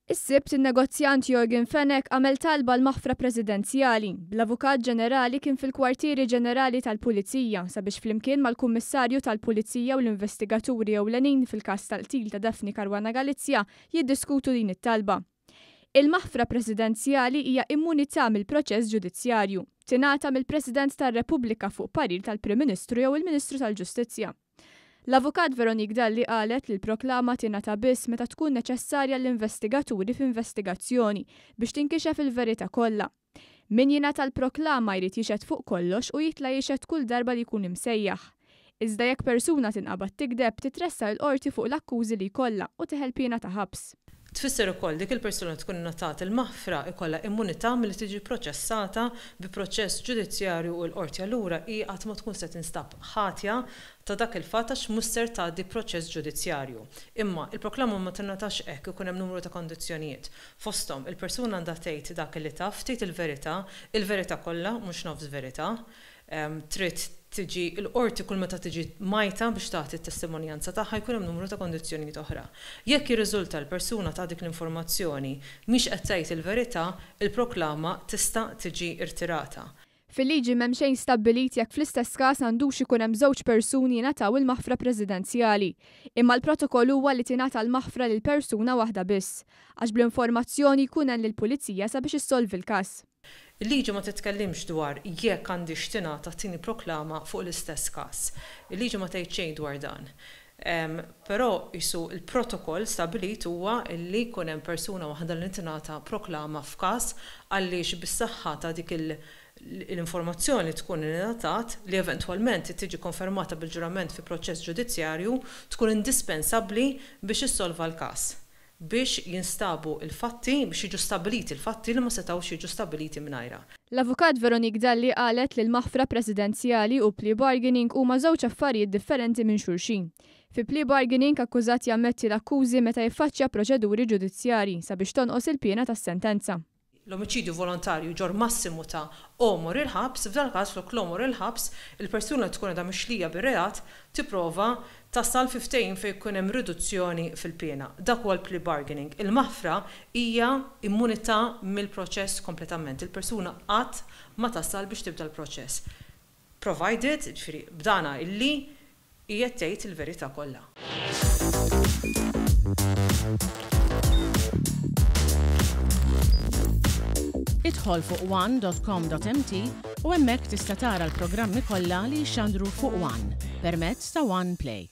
Is-Sibt in-negozjant Yorgen Fenech għamel talba għal maħfra presidenzjali, bl-Avukat Ġenerali kien fil-Kwartieri Ġenerali tal-Pulizija sabiex flimkien mal-Kummissarju tal-Pulizija u l-investigaturi ewlenin fil-każ tal-qtil ta' Daphne Caruana Galizia jiddiskutu din it-talba. Il-maħfra presidenzjali hija immunità mill-proċess ġudizzjarju. Tingħata mill-President tar-Repubblika fuq parir tal-Prim Ministru jew il-Ministru tal-Ġustizzja. L-Avukat Veronique Dalli qalet li l-proklama tingħata biss meta tkun neċessarja għall-investigaturi f'investigazzjoni biex tinkixef il-verità kollha. Min jingħata l-proklama jrid jixhed fuq kollox u jitla' jixhed kull darba li jkun imsejjaħ. Iżda jekk persuna tinqabad tigdeb, titressaq il-Qorti fuq l-akkużi li jkollha u teħel piena ta' ħabs. Tfisser ukoll dik il-persuna li tkun ingħatat il-maħfra jkollha immunità milli tiġi pproċessata bi proċess ġudizzjarju u l-qorti allura hi qatt ma tkun se tinstab ħatja ta' dak il-fatt għax mhux ser tgħaddi proċess ġudizzjarju. Imma, il-proklama ma tingħatax hekk, ikun hemm numru ta' kondizzjonijiet. Fosthom, il-persuna għandha tgħid dak li taf, tgħid il-verità, il-verità kollha, mhux nofs verità. Trid tiġi l-qorti kull meta tiġi mgħajta biex tagħti t-testimonjanza tagħha jkun hemm numru ta' kondizzjonijiet oħra. Jekk jirriżulta l-persuna ta dik l-informazzjoni mhix qed tgħid il-verità, il-proklama tista' tiġi rtirata. Fil-liġi m'hemm xejn stabbilit jekk fl-istess każ għandux ikun hemm żewġ persuni jingħataw il-maħfra presidenzjali. Imma l-protokoll huwa li tingħata l-maħfra lil persuna waħda biss. Għax bl-informazzjoni jkun għen lill-pulizija sabiex issolvi l-każ. Il-liġi ma titkellimx dwar jekk għandhiex tingħata t-tieni proklama fuq l-istess każ. Il-liġi ma tgħid xejn dwar dan. Però qisu l-protokoll stabbilit huwa li jkun hemm persuna waħda li tingħata proklama f'każ għaliex bis-saħħa ta' dik l-informazzjoni li tkun ingħatat, li eventwalment tiġi konfermata bil-ġurament fi proċess ġudizzjarju, tkun indispensabbli biex issolva l-każ. biex jinstabu l-fatti, biex jiġu stabbiliti l-fatti li ma setgħux jiġu stabbiliti mingħajrha. L-Avukat Veronique Dalli qalet li l-maħfra presidenzjali u plea bargaining huma żewġ affarijiet differenti minn xulxin. Fi plea bargaining akkużat jammetti l-akkużi meta jiffaċċja proċeduri ġudizzjarji sabiex tonqos il-piena tas-sentenza. L-omiċidju volontarju jġorr massimu ta' għomor il-ħabs, f'dal-każ flok l-għomor il-ħabs, il-persuna li tkun għadha mixlija bir-reat tipprova tasal fi ftehim fejn ikun hemm riduzzjoni fil-piena. Dak huwa l-plea bargaining. Il-maħfra hija immunità mill-proċess kompletament. Il-persuna qatt ma tasal biex tibda l-proċess. Provided, jiġifieri b'dana illi hi qed tgħid il-verità kollha. Idħol fuq one dot com dot mt u hemmhekk tista' tara l-programmi kollha li jixxandru fuq one permezz ta' One Play.